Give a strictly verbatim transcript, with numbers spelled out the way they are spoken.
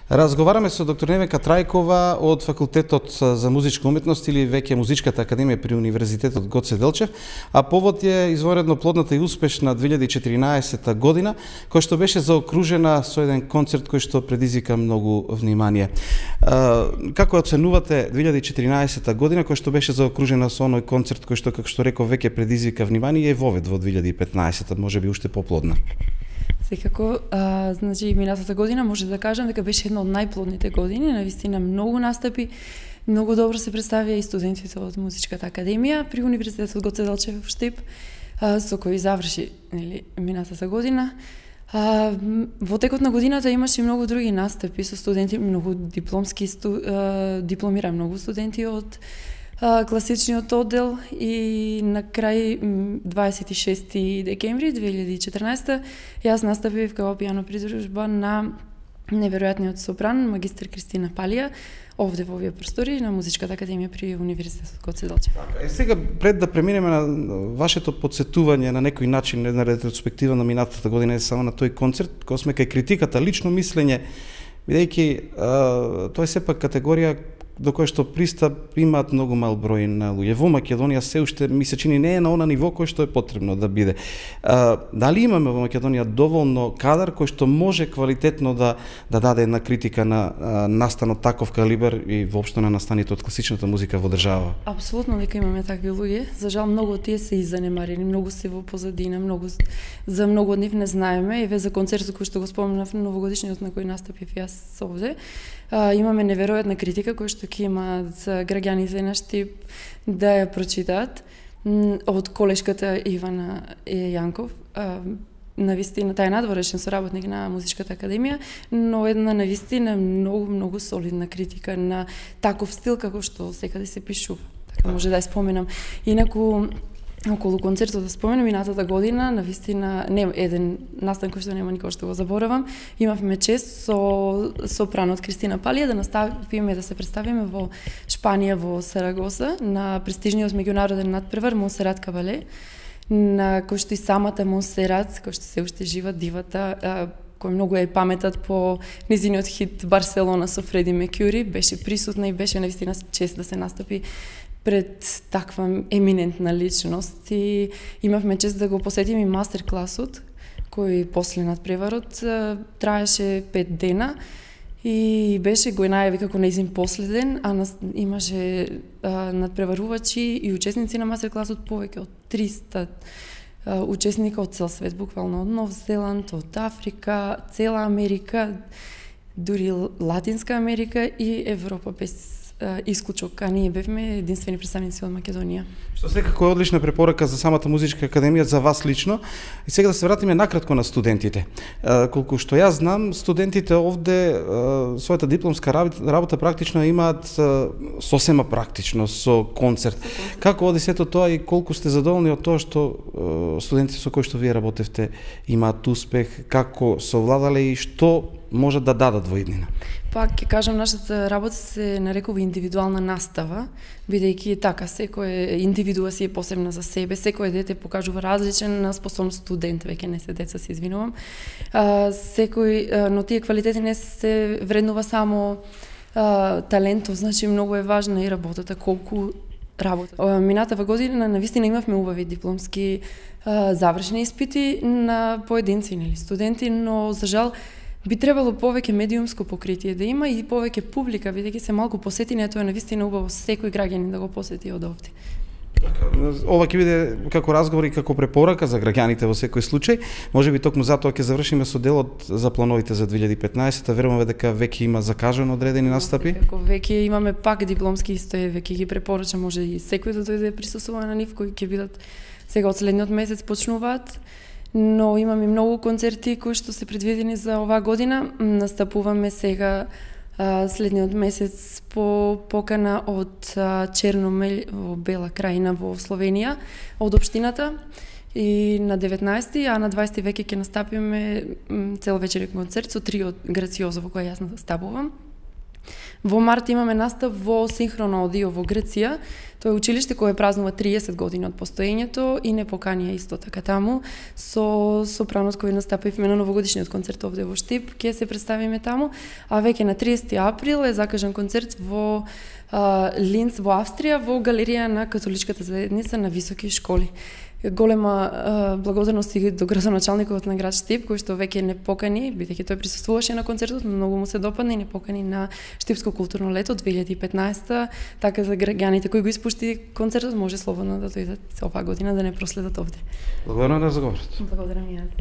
Разговараме со доктор Невенка Трајкова од Факултетот за музичка уметност или веќе Музичката академија при Универзитетот Гоце Делчев, а повод е извонредно плодната и успешна две илјади и четиринаесета година, која што беше заокружена со еден концерт кој што предизвика многу внимание. Како оценувате две илјади и четиринаесета година која што беше заокружена со оној концерт кој што, како што реков, веќе предизвика внимание и вовед во две илјади и петнаесета, можеби уште поплодна? Секако, а, значи, минатата година може да кажам дека беше една од најплодните години, навистина многу настапи, многу добро се представија и студентите од Музичката академија при Универзитетот Гоце Делчев в Штип, а, со кој заврши нели, минатата година. А, во текот на годината имаше и многу други настапи со студенти, многу дипломски, сту, а, дипломира многу студенти од класичниот оддел и на крај дваесет и шести декември две илјади и четирнаесета јас настапив како пијано придружба на неверојатниот сопран магистар Кристина Палија овде во овие простори на Музичката академија при Универзитетот Гоце Делчев. Така, е сега пред да преминеме на вашето подсетување на некој начин една ретроспектива на минатата година не само на тој концерт, кога сме кај критиката, лично мислење, бидејќи тоа е сепак категорија до кој што пристап имаат многу мал број на луѓе. Во Македонија се уште ми се чини не е на она ниво кој што е потребно да биде. А, дали имаме во Македонија доволно кадар кој што може квалитетно да да даде една критика на а, настан од таков калибар и воопшто на настаните од класичната музика во држава? Апсолутно дека имаме такви луѓе. За жал многу од тие се и занемарени, многу се во позадина, многу за многу од нив не знаеме. Еве за концертот кој што го споменав новогодишниот на кој настапив јас овде. А, имаме неверојатна критика која што ќе имаат граѓаните на Штип да ја прочитаат од колешката Ивана Јанков. А, навистина тај надворешен соработник на Музичката академија, но една навистина многу многу солидна критика на таков стил како што секаде се пишува. Така може да ја споменам. Инаку околу концертот да споменам минатата година, навистина не еден настан кој што нема никој што го заборавам. Имавме чест со сопранот Кристина Палија да наставиме да се представиме во Шпанија во Сарагоса на престижниот меѓународен надпревар Монсерат Кабале, на кој што и самата Монсерат, кој што се уште жива дивата, кој многу е паметат по низиниот хит Барселона со Фреди Меркјури, беше присутна и беше навистина чест да се настапи пред таква еминентна личност и имавме чест да го посетиме и мастер класот кој после надпреварот траеше пет дена и беше го најави како нејзин последен, а нас, имаше а, надпреварувачи и учесници на мастер класот повеќе од триста а, учесника од цел свет, буквално од Нов Зеланд, од Африка, цела Америка, дури Латинска Америка и Европа без исклучок, а ние бевме единствени представници од Македонија. Што секако е одлична препорака за самата Музичка академија, за вас лично. И сега да се вратиме накратко на студентите. Колку што јас знам, студентите овде својата дипломска работа практично имаат сосема практично со концерт. Како оди сето тоа и колку сте задоволни од тоа што студентите со кои што вие работевте имаат успех, како совладале и што можат да дадат во иднина? Пак ќе кажам, нашата работа се нарекува индивидуална настава, бидејќи така секој индивидуа си е посебна за себе, секој дете покажува различен способност, студент, веќе не се деца, се извинувам. А, секој, а, но тие квалитети не се вреднува само а, талентот, значи многу е важна и работата, колку работа. Минатава година навистина имавме убави дипломски а, завршени испити на поединци или студенти, но за жал би требало повеќе медиумско покритие да има и повеќе публика, бидејќи се малку посетени, тоа е навистина убаво секој граѓанин да го посети од овде. Ова ќе биде како разговор и како препорака за граѓаните во секој случај. Можеби токму затоа ќе завршиме со делот за плановите за две илјади и петнаесета. Веруваме дека веќе има закажано одредени настапи. Како веќе имаме пак дипломски истои, веќе ги препорачам, може и секој да дојде присуствува на нив, кои ќе бидат сега од следниот месец почнуваат. Но имаме многу концерти кои што се предвидени за оваа година. Настапуваме сега а, следниот месец по покана од а, Черномел во Бела Краина во Словенија, од општината. И на деветнаесети, а на дваесети веќе ќе настапиме целовечерен концерт со трио Грациозо во кој јас настапувам. Во март имаме настав во Синхроно аудио во Грција. Тоа е училиште кое празнува триесет години од постоењето и не поканија исто така таму. Со сопранот кој настапивме на новогодишниот концерт овде во Штип, ќе се представиме таму, а веќе на триесети април е закажан концерт во а, Линц во Австрија, во галерија на католичката заедница на високи школи. Голема а, благодарност и до градоначалникот на град Штип, кој што веќе не покани, бидејќи тој присуствуваше на концертот, но многу му се допадна и не покани на Штипско културно лето две илјади и петнаесета, така за граѓаните кои го испушти концертот може слободно да дојдат оваа година да не проследат овде. Благодарам на разговорот. Благодарам и јас.